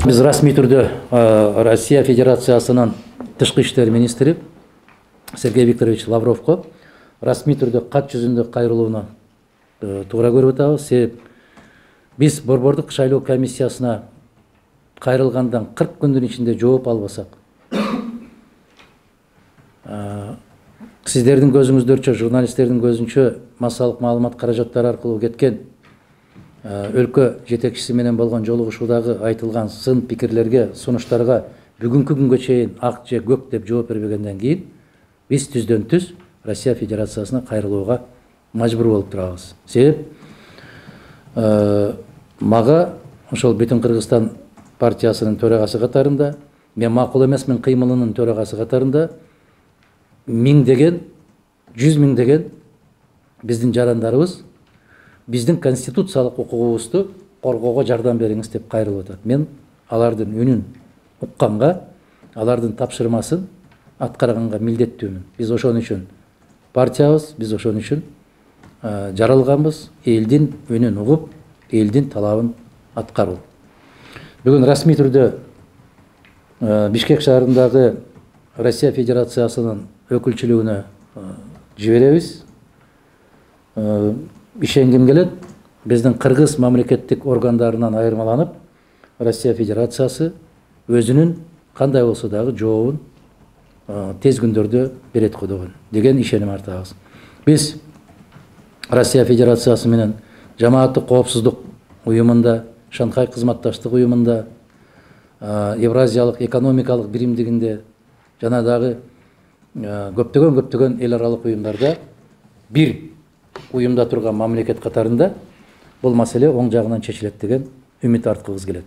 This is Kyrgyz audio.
Биз расмий түрдө Россия Федерациясынын тышкы иштер министри Сергей Викторович Лавровго расмий түрдө кат жүзүндө кайрылууна туура көрүп атабыз. Себеп биз Борбордук шайлоо комиссиясына кайрылгандан 40 күндүн ичинде жооп албасак, сиздердин көзүңүздөрчө, журналисттердин көзүнчө массалык маалымат каражаттары аркылуу кеткен өлкө жетекчиси менен болгон жолугушуудагы айтылган сын пикирлерге, сунуштарга бүгүнкү күнгө чейин ак же көк деп жооп бербегенден кийин биз түздөн түз Россия Федерациясына кайрылууга мажбур болуп турабыз. Себеп мага ошол Бүтүн Кыргызстан партиясынын төрагасы катарында, мен макул эмесмин кыймылынын төрагасы катарында миңдеген, 100 миңдеген биздин жарандарыбыз биздин конституциялык укугубузду коргоого жардам бериңиз деп кайрылып атат. Мен алардын үнүн укканга, алардын тапшырмасын аткарганга милдеттүүмүн. Биз ошон үчүн партиябыз, биз ошон үчүн жаралганбыз, элдин үнүн угуп, элдин талабын аткаруу. Бүгүн расмий түрдө Бишкек шаарындагы Россия Федерациясынын өкүлчүлүгүнө жиберебиз. Ишенгим келет, биздин кыргыз мамлекеттик органдарынан айырмаланып, Россия Федерациясы өзүнүн кандай болсо дагы жообун тез күндөрдө берет кодогон деген ишеним артабыз. Биз Россия Федерациясы менен жамааттык коопсуздук уюмунда, Шанхай кызматташтык уюмунда, Евразиялык экономикалык биримдигинде жана дагы көптөгөн эл аралык уюмдарда бир уюмда турган мамлекет катарында бул маселе оң жагынан чечилет деген үмүт арткыбыз келет.